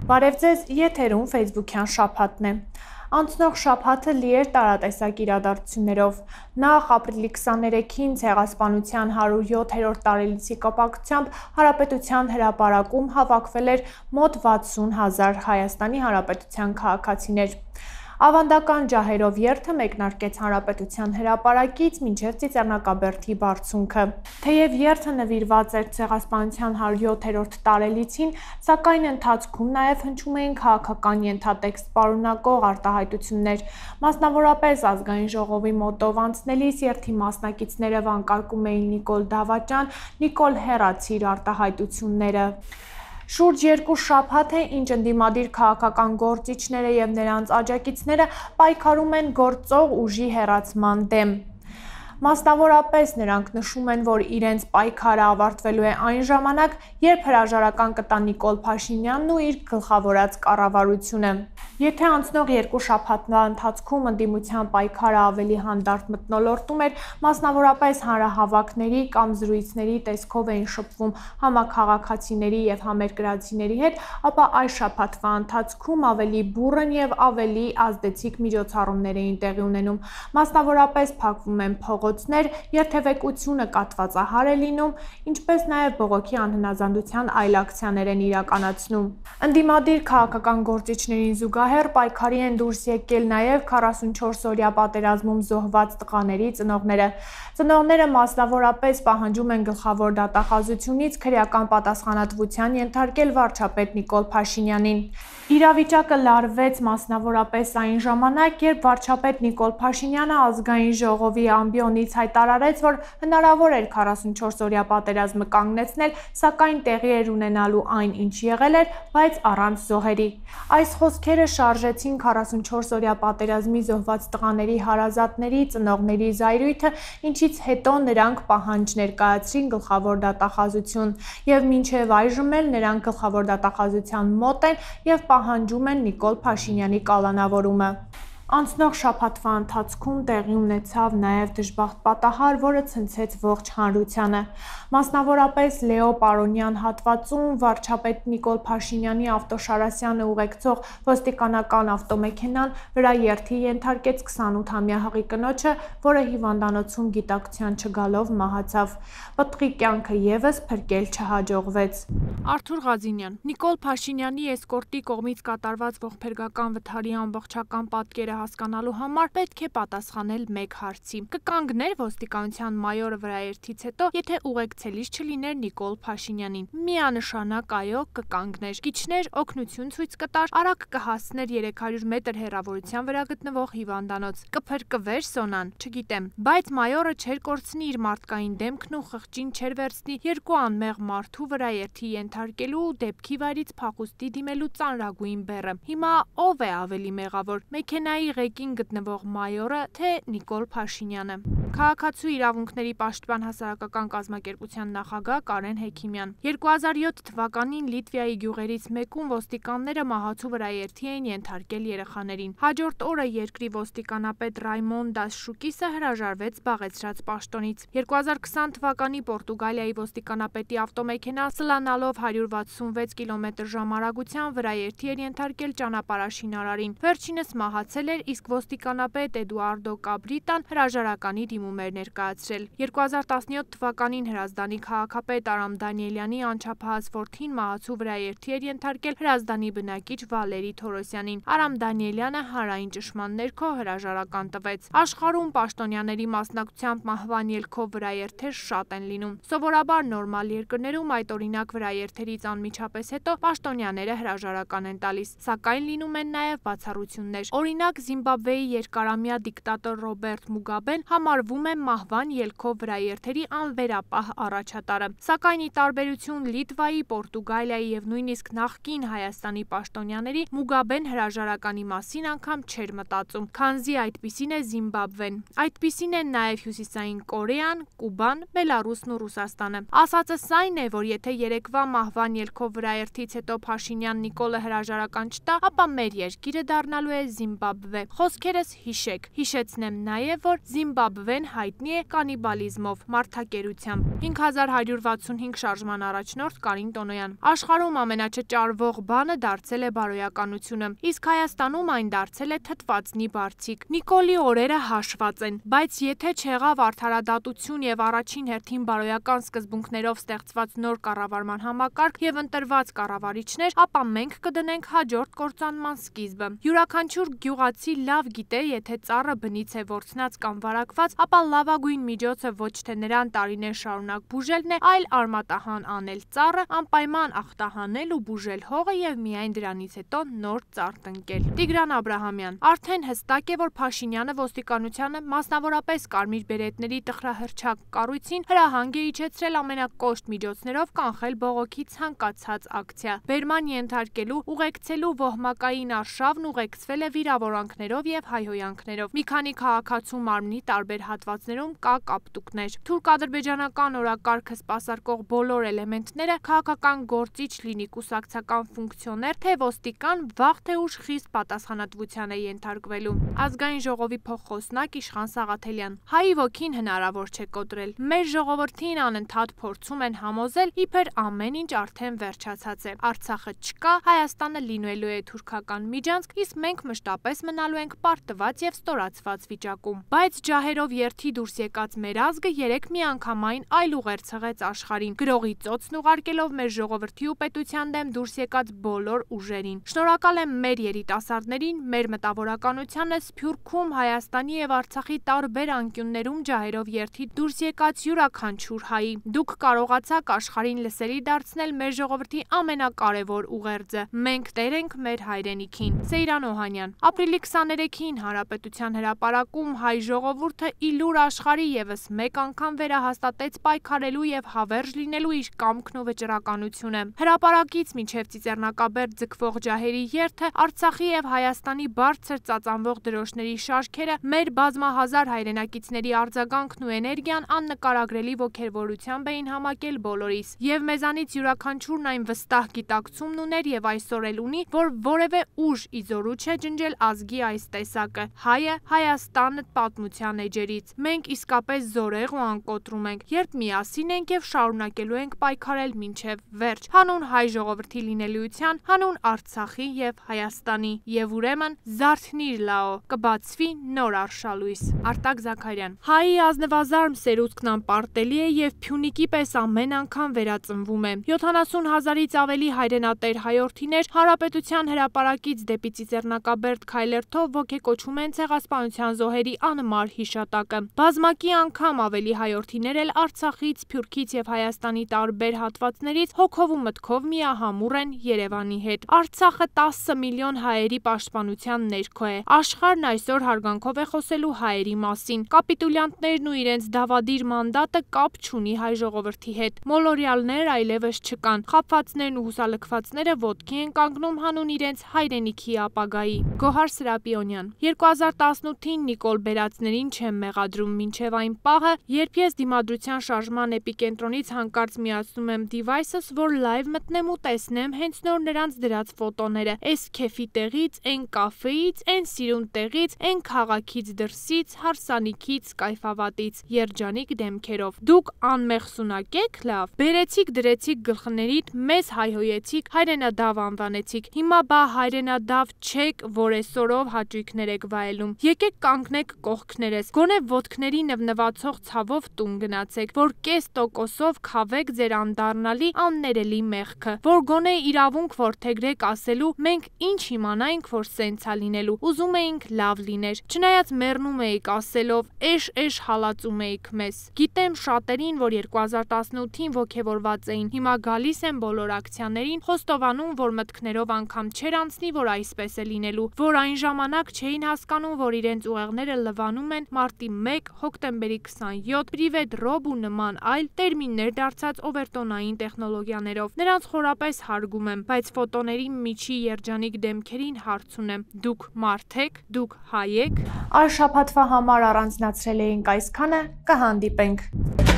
Բարև ձեզ, եթերում Facebook-յան շաբաթն է։ Անցնող շաբաթը լի էր տարատեսակ իրադարձություններով։ Նախ ապրիլի 23-ին ցեղասպանության 107-րդ տարելիցի կապակցությամբ Հանրապետության հրապարակում հավաքվել էր մոտ 60,000 Հայաստանի Հանրապետության քաղաքացիներ։ Ավանդական ջահերով երթը մեկնարկեց Հանրապետության հրապարակից մինչև Ծիծեռնակաբերդի բարձունքը։ Թեև երթը նվիրված էր ցեղասպանության 107-րդ տարելիցին, սակայն ընթացքում նաև հնչում էին քաղաքական ենթատեքստ պարունակող արտահայտություններ։ Մասնավորապես Ազգային ժողովի մոտով անցնելիս երթի մասնակիցները վանկարկում էին Նիկոլ Դավաճան, Նիկոլ հեռացիր արտահայտությունները։ Շուրջ 2 շաբաթ է, ինչ ընդդիմադիր քաղաքական գործիչները եւ նրանց աջակիցները պայքարում են գործող ուժի հեռացման դեմ։ Մասնավորապես նրանք նշում են, որ իրենց պայքարը ավարտվելու է այն ժամանակ, երբ հրաժարական կտա Նիկոլ Փաշինյանն ու իր գլխավորած կառավարությունը։ Եթե անցնող 2 շաբաթվա ընթացքում ընդդիմության պայքարը ավելի հանդարտ մթնոլորտում էր, մասնավորապես հանրահավաքների կամ զրույցների տեսքով էին շփվում համաքաղաքացիների եւ համերկրացիների հետ, ապա այս շաբաթվա ընթացքում ավելի բուռն եւ ավելի ազդեցիկ միջոցառումներ էին տեղի ունենում։ Մասնավորապես փակվում են փողոցներ, երթևեկությունը կաթվածահար է լինում, ինչպես նաեւ բողոքի անհնազանդության այլ ակցիաներ են իրականացնում։ Ընդդիմադիր քաղաքական գործիչներին զուգահեռ պայքարի են դուրս եկել նաեւ 44-օրյա պատերազմում զոհված տղաների ծնողները։ Ծնողները մասնավորապես պահանջում են գլխավոր դատախազությունից քրեական պատասխանատվության ենթարկել վարչապետ Նիկոլ Փաշինյանին։ Իրավիճակը լարվեց մասնավորապես այն ժամանակ, երբ վարչապետ Նիկոլ Փաշինյանը Ազգային ժողովի ամբիոնից հայտարարեց, որ հնարավոր էր 44-օրյա պատերազմը կանգնեցնել, սակայն տեղի էր ունենալու այն, ինչ եղել էր, բայց առանց զոհերի։ Այս խոսքերը շարժեցին 44-օրյա պատերազմի զոհված տղաների հարազատների ծնողների զայրույթը, ինչից հետո նրանք պահանջ ներկայացրին գլխավոր դատախազություն, եւ մինչեւ այժմ էլ նրանք գլխավոր դատախազության մոտ են եւ պահանջում են Նիկոլ Փաշինյանի կալանավորումը։ Անցնող շաբաթվա ընթացքում տեղի ունեցավ նաև դժբախտ պատահար, որը ցնցեց ողջ հանրությանը։ Մասնավորապես Լեո Պարոնյան հատվածում վարչապետ Նիկոլ Փաշինյանի ավտոշարասյանը ուղեկցող ոստիկանական ավտոմեքենան վրա երթի ենթարկեց 28-ամյա հղի կնոջը, որը հիվանդանոցում գիտակցության չգալով մահացավ։ Պտղի կյանքը եւս փրկել չհաջողվեց։ Արթուր Ղազինյան Նիկոլ Փաշինյանի էսկորտի կողմից կատարված ողբերգական վթարի ամբողջական պատկերը հասկանալու համար պետք է պատասխանել մեկ հարցի. կկանգներ ոստիկանության մայորը վրաերթից հետո, եթե ուղեկցելիս չլիներ Նիկոլ Փաշինյանին։ Միանշանակ այո, կկանգներ, կիջներ, օգնություն ցույց կտար, արագ կհասներ 300 մետր հեռավորության վրա գտնվող հիվանդանոց, կփրկվեր Սոնան, չգիտեմ, բայց մայորը չէր կորցնի իր մարդկային դեմքն ու խղճին չէր վերցնի երկու անմեղ մարդու վրաերթի ենթարկելու ու դեպքի վայրից փախուստի դիմելու ծանրագույն բեռը։ Հիմա ով է ավելի մեղավոր՝ մեքենայի ղեկին գտնվող մայորը, թե Նիկոլ Փաշինյանը։ Քաղաքացու իրավունքների պաշտպան հասարակական կազմակերպության նախագահ Կարեն Հեքիմյան 2007 թվականին Լիտվայի գյուղերից մեկում ոստիկանները մահացու վրաերթի էին ենթարկել երեխաներին։ Հաջորդ օրը երկրի ոստիկանապետ Ռայմոն Դասշուկիսը հրաժարվեց զբաղեցրած պաշտոնից։ 2020 թվականի Պորտուգալիայի ոստիկանապետի ավտոմեքենա սլանալով 166 կմ/ժ արագությամբ վրաերթի էր ենթարկել ճանապարհաշինարարին։ Վերջինս մահացել էր, իսկ ոստիկանապետ Էդուարդո Կաբրիտան հրաժարականի դիմում էր ներկայացրել։ 2017 թվականին Հրազդանի քաղաքապետ Արամ Դանիելյանի անչափահաս որդին մահացու վրաերթի էր ենթարկել Հրազդանի բնակիչ Վալերի Թորոսյանին։ Արամ Դանիելյանը հանրային ճշմարտ ներքո հրաժարական տվեց։ Աշխարհում պաշտոնյաների մասնակցությամբ մահվան ելքով վրաերթեր շատ են լինում։ Սովորաբար նորմալ երկրներում այդ օրինակ վրաերթերից անմիջապես հետո պաշտոնյաները հրաժարական են տալիս, սակայն լինում են նաև բացառություններ։ Օրինակ Զիմբաբվեի երկարամյա դիկտատոր Ռոբերտ Մուգաբեն համարվում է մահվան ելքով վրաերթերի անվերապահ առաջատարը, սակայն ի տարբերություն Լիտվայի, Պորտուգալիայի եւ նույնիսկ նախկին Հայաստանի պաշտոնյաների Մուգաբեն հրաժարականի մասին անգամ չէր մտածում, քանզի այդպիսին է Զիմբաբվեն, այդպիսին են նաև Հյուսիսային Կորեան, Կուբան, Բելարուսն ու Ռուսաստանը։ Ասածս այն է, որ եթե երեկվա մահվան ելքով վրաերթից հետո Փաշինյան Նիկոլը հրաժարական չտա, ապա մեր երկիրը դառնալու է Զիմբաբվե։ Խոսքերս հիշեք։ Հիշեցնեմ նաև, որ Զիմբաբվեն Արմեն հայտնի է կանիբալիզմով, մարդակերությամբ։ 5165 շարժման առաջնորդ Կարին Տոնոյան։ Աշխարհում ամենաչճարվող բանը դարձել է բարոյականությունը, իսկ Հայաստանում այն դարձել է թթվածնի բարձիկ։ Նիկոլի օրերը հաշված են, բայց եթե չեղավ արդարադատություն եւ առաջին հերթին բարոյական սկզբունքներով ստեղծված նոր կառավարման համակարգ եւ ընտրված կառավարիչներ, ապա մենք կդնենք հաջորդ կործանման սկիզբը։ Յուրաքանչյուր գյուղացի լավ գիտե, եթե ծառը բնից է որցնած կամ վարակված, ապա լավագույն միջոցը ոչ թե նրան տարիներ շարունակ բուժելն է, այլ արմատահան անել ծառը, անպայման ախտահանել ու բուժել հողը եւ միայն դրանից հետո նոր ծառ տնկել։ Տիգրան Աբրահամյան։ Արդեն հստակ է, որ Փաշինյանը ոստիկանությանը, մասնավորապես կարմիր բերետների տխրահռչակ կառույցին հրահանգ է իջեցրել ամենակոշտ միջոցներով կանխել բողոքի ցանկացած ակցիա։ Բերման ենթարկելու, ուղեկցելու ոհմակային արշավն ուղեկցվել է վիրավորանքներով եւ հայհոյանքներով։ Մի քանի քաղաքացու մարմնի տարբեր հատվածներում կա կապտուկներ։ Թուրք-ադրբեջանական օրակարգը սպասարկող բոլոր էլեմենտները քաղաքական գործիչ լինի կուսակցական ֆունկցիոներ, թե ոստիկան, վաղ թե ուշ խիստ պատասխանատվության է ենթարկվելու։ Ազգային ժողովի փոխխոսնակ Իշխան Սաղաթելյան։ Հայի ոգին հնարավոր չէ կոտրել։ Մեր ժողովրդին անընդհատ փորձում են համոզել, իբր ամեն ինչ արդեն վերջացած է։ Արցախը չկա, Հայաստանը լինելու է թուրքական միջանցք, իսկ մենք մշտապես մնալու ենք պարտված եւ ստորացված վիճակում։ Բայց ջահերով երթի դուրս եկած մեր ազգը երեք միանգամայն այլ ուղեր ցղեց աշխարհին, գրողի ծոցն ուղարկելով մեր ժողովրդի ու պետության դեմ դուրս եկած բոլոր ուժերին։ Շնորհակալ եմ մեր երիտասարդներին, մեր մտավորականությանը, Սփյուռքում, Հայաստանի եւ Արցախի տարբեր անկյուններում ջահերով երթի դուրս եկած յուրաքանչյուր հայի։ Դուք կարողացաք աշխարհին լսելի դարձնել մեր ժողովրդի ամենակարևոր ուղերձը։ Մենք տեր ենք մեր հայրենիքին։ Սեյրան Օհանյան։ Ապրիլի 23-ին Հանրապետության հրապարակում հայ ժողովուրդը իլուր աշխարհի եւս մեկ անգամ վերահաստատեց պայքարելու եւ հավերժ լինելու իր կամքն ու վճռականությունը։ Հրապարակից մինչև Ծիծեռնակաբերդ ձգվող ջահերի երթը, Արցախի եւ Հայաստանի բարձր ծածանվող դրոշների շարքերը, մեր բազմահազար հայրենակիցների արձագանքն ու էներգիան աննկարագրելի ոգևորությամբ էին համակել բոլորիս, եւ մեզանից յուրաքանչյուրն այն վստահ գիտակցումն ուներ եւ այսօր էլ ունի, որ որևէ ուժ իզորու չէ ջնջել ազգի այս տեսակը։ Հայը, Հայաստանը պատմության էջերից։ Մենք իսկապես զորեղ ու անկոտրում ենք, երբ միասին ենք եւ շարունակելու ենք պայքարել մինչեւ վերջ, հանուն հայ ժողովրդի լինելիության, հանուն Արցախի եւ Հայաստանի, եւ ուրեմն զարթնիր լաո, կբացվի նոր արշալույս։ Արտակ Զաքարյան։ Հայի ազնվազարմ սերուցքն անպարտելի է եւ Փյունիկի պես ամեն անգամ վերածնվում է։ 70,000-ից ավելի հայրենատեր հայորդիներ Հանրապետության հրապարակից դեպի Ծիծեռնակաբերդ քայլերթով ոգեկոչում են ցեղասպանության զոհերի անմար հիշատակը։ Բազմակի անգամ ավելի հայորդիներ էլ Արցախից, Սփյուռքից եւ Հայաստանի տարբեր հատվածներից հոգով ու մտքով միահամուռ են Երևանի հետ։ Արցախը 10 միլիոն հայերի պաշտպանության ներքո է։ Աշխարհն այսօր հարգանքով է խոսելու հայերի մասին։ Կապիտուլյանտներն ու իրենց դավադիր մանդատը կապ չունի հայ ժողովրդի հետ։ Մոլորյալներ այլևս չկան։ Խաբվածներն ու հուսալքվածները ոտքի են կանգնում հանուն իրենց հայրենիքի ապագայի։ Գոհար Սրապիոնյան։ 2018-ին Նիկոլ Բերածներին չեմ մեղադրում մինչև այն պահը, երբ ես դիմադրության շարժման էպիկենտրոնից հանկարծ միացնում եմ device-ս, որ live մտնեմ ու տեսնեմ հենց նոր նրանց դրած ֆոտոները։ Էս քեֆի տեղից, այն կաֆեից, այն սիրուն տեղից, այն քաղաքից դրսից, հարսանիքից, կայֆավատից, երջանիկ դեմքերով։ Դուք անմեղսունակ եք, լավ։ Բերեցիք, դրեցիք գլխներիդ, մեզ հայհոյեցիք, հայրենադավ անվանեցիք։ Հիմա բա հայրենադավ չեք, որ այսօրով հաճույքներ եք վայելում։ Եկեք կանգնեք կողքներես, գոնե ոտքների նվնվացող ցավով տուն գնացեք, որ կես տոկոսով քավեք ձեր անդառնալի աններելի մեղքը, որ գոնե իրավունք որդեգրեք ասելու մենք ինչ իմանայինք, որ սենց ա լինելու, ուզում էինք լավ լիներ, չնայած մեռնում էիք ասելով էշ հալածում էիք մեզ։ Գիտեմ շատերին, որ 2018-ին ոգևորված էին, հիմա գալիս են բոլոր ակցիաներին, խոստովանում, որ մտքներով անգամ չեր անցնի, որ այսպես է լինելու, որ այն ժամանակ չէին հասկանում, որ իրենց ուղեղները լվանում են մարտի 1, հոկտեմբերի 27, պրիվետ ռոբ ու նման այլ տերմիններ դարձած օվերտոնային տեխնոլոգիաներով։ Նրանց խորապես հարգում եմ, բայց ֆոտոների միջի երջանիկ դեմքերին հարց ունեմ։ Դուք մարդ եք, դուք հայ եք։ Այս շաբաթվա համար առանձնացրել էինք այսքանը, կհանդիպենք։